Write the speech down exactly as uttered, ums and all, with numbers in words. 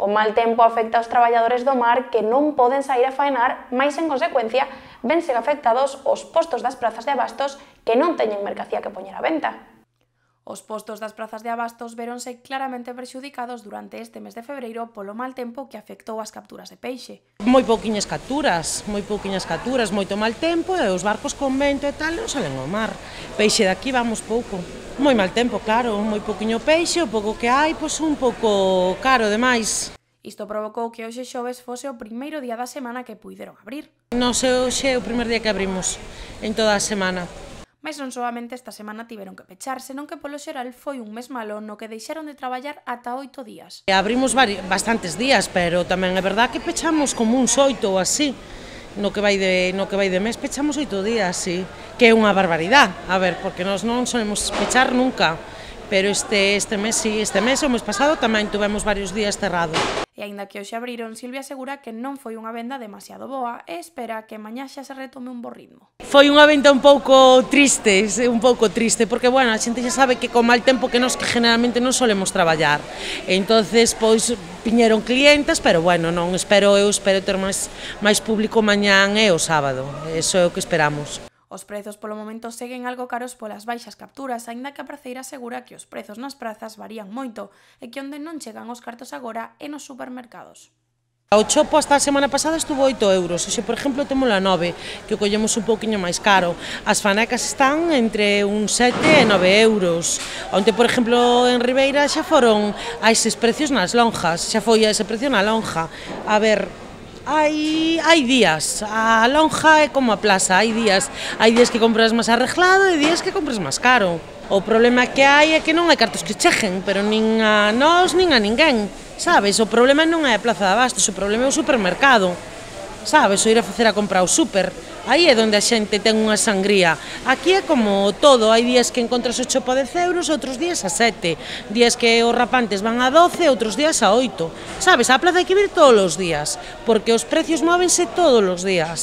O mal tempo afecta aos traballadores do mar que non poden sair a faenar, mais en consecuencia vense afectados os postos das prazas de abastos que non teñen mercancía que poñer á venta. Os postos das prazas de abastos véronse claramente prexudicados durante este mes de febreiro polo mal tempo que afectou as capturas de peixe. Moi pouquiñas capturas, moi pouquiñas capturas, moito mal tempo e os barcos con vento e tal non salen ao mar. Peixe daqui vamos pouco. Moi mal tempo, claro, moi pouquiño peixe, o pouco que hai, pois un pouco caro demais. Isto provocou que hoxe xoves fose o primeiro día da semana que puideron abrir. Non sei, hoxe é o primeiro día que abrimos en toda a semana. Mais non solamente esta semana tiveron que pechar, senón que polo xeral foi un mes malo no que deixaron de traballar ata oito días. Abrimos bastantes días, pero tamén é verdad que pechamos como uns oito ou así. No que vai de, no que vai de mes pechamos oito días, sí, que é unha barbaridade, a ver, porque nós non solemos pechar nunca, pero este, este mes, sí, este mes, o mes pasado tamén tuvemos varios días cerrado. E aínda que hoxe abriron, Silvia asegura que non foi unha venda demasiado boa e espera que mañá xa se retome un bo ritmo. Foi unha venda un pouco triste, un pouco triste, porque, bueno, a xente xa sabe que con mal tempo que nos que generalmente non solemos traballar. E entonces, pois, viñeron clientes, pero, bueno, non espero, eu espero ter máis, máis público mañán e o sábado, eso é o que esperamos. Os prezos polo momento seguen algo caros polas baixas capturas, aínda que a praceira asegura que os prezos nas prazas varían moito e que onde non chegan os cartos agora é nos supermercados. O chopo hasta a semana pasada estuvo oito euros, hoxe, por exemplo, temos a nove, que o collemos un pouquiño máis caro. As fanecas están entre uns sete e nove euros. Onte, por exemplo, en Ribeira xa foron a eses precios nas lonjas, xa foi a ese precio na lonja. A ver, Hai, hai días, a lonja é como a plaza, hai días, hai días que compras máis arreglado e días que compras máis caro. O problema que hai é que non hai cartos que cheguen, pero nin a nós nin a ninguén, sabes? O problema non é a plaza de abastos, o problema é o supermercado, sabes? O ir a facer a compra ao super, aí é onde a xente ten unha sangría. Aquí é como todo, hai días que encontras o chopo a dez euros, outros días a sete, días que os rapantes van a doce, outros días a oito. Sabes, a plaza hai que vir todos os días, porque os precios móvense todos os días.